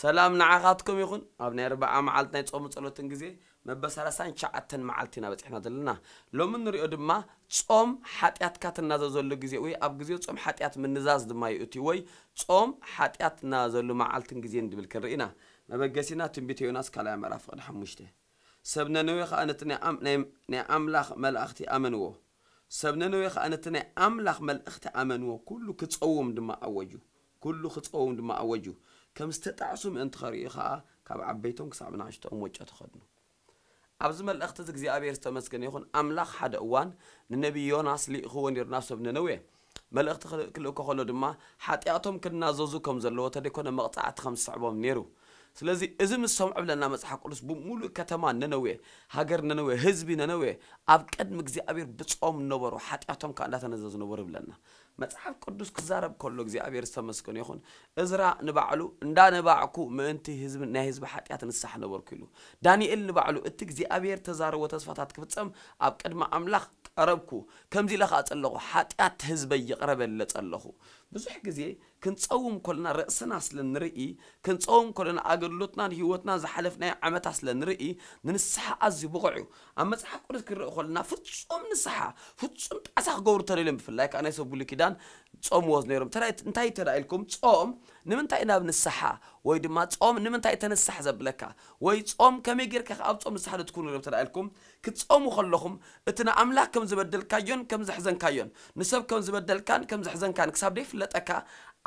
ሰላም ንዓኻትኩም ይኹን። ኣብ ናይ ኣርብዓ መዓልቲ ናይ ጾም ጸሎትን ግዜ መበል ሰላሳን ትሽዓተን መዓልቲ ኢና በጺሕና ዘለና። ሎሚ ንሪኦ ድማ ጾም ሓጢኣትካ ትናዘዘሉ ግዜ ወይ ኣብ ግዜ ጾም ሓጢኣት ምንዛዝ ድማ እዩ እቲ ወይ ጾም ሓጢኣት ትናዘዘሉ መዓልትን ግዜን ድብል ክንርኢ ኢና። መበገሲና ትንቢት ዮናስ ካልኣይ ምዕራፍ ፍቕዲ ሓሙሽተ። ሰብ ነነዌ ኸኣ ነቲ ናይ ኣም-፣ ናይ፣ ናይ ኣምላኽ መላእኽቲ ኣመንዎ። ሰብ ነነዌ ኸኣ ነቲ ናይ ኣምላኽ መልእኽቲ ኣመንዎ። ኩሉ ክጸውም ድማ ኣወጁ። ኩሉ ክጸውም ድማ ኣወጁ። ከም ዝተጣዕሱ ምእንቲ ኸርእዩ ኸኣ ካብ ዓበይቶም ክሳብ ንኣሽቶኦም ወጮ ተኸድኑ። ኣብዚ መልእኽቲ እዚ እግዚኣብሔር ዝተመስገነ ይኹን። ኣምላኽ ሓደ እዋን ንነቢይ ዮናስ ልኢኽዎ ነይሩ ናብ ሰብ ነነዌ። መልእኽቲ ክል-፣ ክልእኮ ከሎ ድማ ሓጢኣቶም ክናዘዙ ከም ዘለዎ ተደይኮነ መቕጻዕቲ ከም ዝስዕቦም ነይሩ። ስለዚ እዚ ምስ ሰምዑ ብለና መጽሓፍ ቅዱስ ብምሉእ ከተማ ነነዌ፣ ሃገር ነነዌ፣ ህዝቢ ነነዌ ኣብ ቅድሚ እግዚኣብሔር ብጾም ነበሩ፣ ሓጢኣቶም ከኣ እንዳተነዘዙ ነበሩ ይብለና። መጽሓፍ ቅዱስ ክዛረብ ከሎ እግዚኣብሔር ዝተመስገነ ይኹን። እዝራ ንባዕሉ እንዳ ነባዕኩ ምእንቲ ህዝቢ ናይ ህዝቢ ሓጢኣት ንስሓ ነበርኩ ኢሉ። ዳንኤል ንባዕሉ እቲ እግዚኣብሔር ተዛረቦ ተስፋታት ክፍጸም ኣብ ቅድሚ ኣምላኽ ቀረብኩ፣ ከምዚ ኢለ ከኣ ጸለኹ፣ ሓጢኣት ህዝበይ ይቕረ በለ ጸለኹ። ብዙሕ ግዜ ክንጸውም ከለና ርእስና ስለ ንርኢ፣ ክንጸውም ከለና ኣገልግሎትናን ህይወትናን ዝሓለፍናዮ ዓመታት ስለ ንርኢ፣ ንንስሓ ኣዝዩ ብቑዕ እዩ። ኣብ መጽሓፍ ቅዱስ ክንርኢ ከለና ፍጹም ንስሓ፣ ፍጹም ጣዕሳ ክገብሩ ተደልዮም፣ ብፍላይ ከኣ ናይ ሰብ ብሉይ ኪዳን ጾምዎ ነይሮም። ተራይ-፣ እንታይ ተዳ ኢልኩም? ጾም ንምንታይ ናብ ንስሓ ወይ ድማ ጾም ንምንታይ ተንስሕ ዘብለካ? ወይ ጾም ከመይ ጌርካ ኣብ ጾም ንስሓ ትኩኑ ነይሮም ተዳ ኢልኩም? ክትጾሙ ከለኹም እቲ ንኣምላኽ ከም ዝበደልካዮን ከም ዘሕዘንካዮን፣ ንሰብ ከም ዝበደልካን ከም ዘሕዘንካን ክሳብ ደይፍለጠካ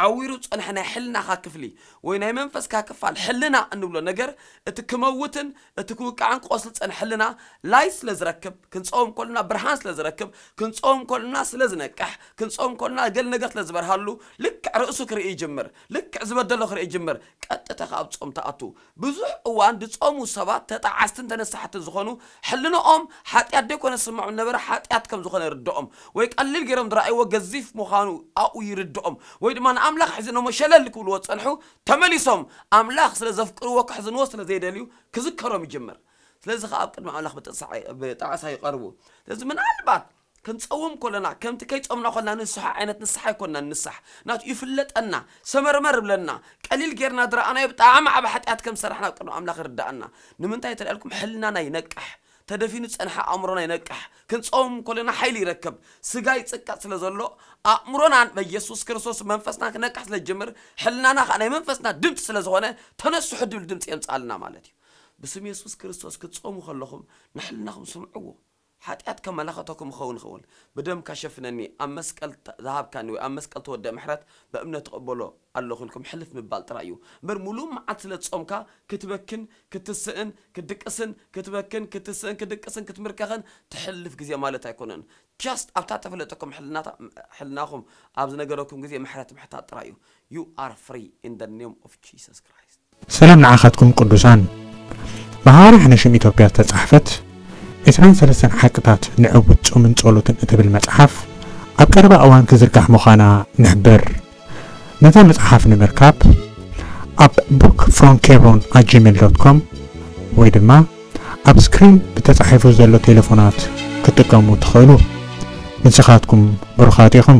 ዓዊሩ ዝጸንሐ ናይ ሕልናኻ ክፍሊ ወይ ናይ መንፈስካ ክፋል ሕልና እንብሎ ነገር እቲ ክመውትን እቲ ክውቃዕን ክቆስል ዝጸንሐ ሕልና ላይት ስለ ዝረክብ፣ ክንጸውም ከለና ብርሃን ስለ ዝረክብ፣ ክንጸውም ከለና ስለ ዝነቅሕ፣ ክንጸውም ከለና ገል ነገር ስለ ዝበርሃሉ ልክዕ ርእሱ ክርኢ ይጅምር፣ ልክዕ ዝበደሎ ክርኢ ይጅምር። ቀጥታ ካብ ጾም ተኣቱ። ብዙሕ እዋን ዝጾሙ ሰባት ተጣዓስትን ተነሳሕትን ዝኾኑ ሕልንኦም ሓጢኣት ደይኮነ ዝስምዖም ነበረ ሓጢኣት ከም ዝኾነ ይርድኦም ወይ ቀሊል ገይሮም ዝረኣይዎ ገዚፍ ምዃኑ ኣብኡ ይርድኦም ወይ ድማ ንኣምላኽ ሕዝኖሞ ሸለል ክብልዎ ዝጸንሑ ተመሊሶም ኣምላኽ ስለ ዘፍቅርዎ ክሕዝንዎ ስለ ዘይደልዩ ክዝከሮም ይጅምር። ስለዚ ኸዓ ኣብ ቅድሚ ኣምላኽ ብጥቕሳ-፣ ብጣዕሳ ይቐርቡ። ስለዚ ምናልባት ክንጸውም ከለና ከምቲ ከይጾምና ከለና ንስሓ ዓይነት ንስሓ ኣይኮንና ንንሳሕ። ናቱ ይፍለጠና፣ ሰመርመር ይብለና። ቀሊል ጌርና ዝረኣናዮ ብጣዕሚ ዓቢ ሓጢኣት ከም ዝሰራሕና ኣብ ቅድሚ ኣምላኽ ይርድኣና። ንምንታይ ተልኣልኩም ሕልናና ይነቅሕ። ተደፊኑ ዝጸንሐ ኣእምሮና ይነቅሕ። ክንጸውም ከለና ሓይሊ ይረክብ። ስጋ ይጽቀጥ ስለ ዘሎ ኣእምሮናን በየሱስ ክርስቶስ መንፈስና ክነቅሕ ስለ ዝጅምር ሕልናና ከኣ ናይ መንፈስና ድምጺ ስለ ዝኾነ ተነስሑ ድብል ድምጺ የምጽኣልና ማለት እዩ። ብስም የሱስ ክርስቶስ ክትጸሙ ከለኹም ንሕልናኹም ስምዕዎ። ሓጢኣት ከመላኸተኩም ይኸውን ይኸውን። ብደምካ ሸፍነኒ፣ ኣብ መስቀል ተ-፣ ዝሃብካኒ ወይ ኣብ መስቀል ተወደ ምሕረት ብእምነት ትቕበሎ ኣለኹ ኢልኩም ሕልፍ ምባል ጥራይ እዩ። እምበር ሙሉእ መዓልቲ ስለ ዝጾምካ ክትበክን፣ ክትስእን፣ ክትድቅስን፣ ክትበክን፣ ክትስእን፣ ክትድቅስን፣ ክትምርከኽን ትሕልፍ ግዜ ማለት ኣይኮነን። ጃስት ኣብታ ተፈለጠኩም ሕልናታ-፣ ሕልናኹም ኣብ ዝነገረኩም ግዜ ምሕረት ምሕታት ጥራይ እዩ። You are free in the name of Jesus Christ. ሰላም ንዓኻትኩም ቅዱሳን። ብሃዋርያ ሕነሽም ኢትዮጵያ ዝተጻሕፈት ዕስራን ሰለስተን ሓቅታት ንዕውት ጾምን ጸሎትን እትብል መጽሓፍ ኣብ ቀረባ እዋን ክዝርጋሕ ምዃና ንሕብር። ነዛ መጽሓፍ ንምርካብ ኣብ book from kebron at gmail dot com ወይ ድማ ኣብ ስክሪን ብተጻሒፉ ዘሎ ቴሌፎናት ክትጥቀሙ ትኽእሉ። ንስኻትኩም ብሩኻት ኢኹም።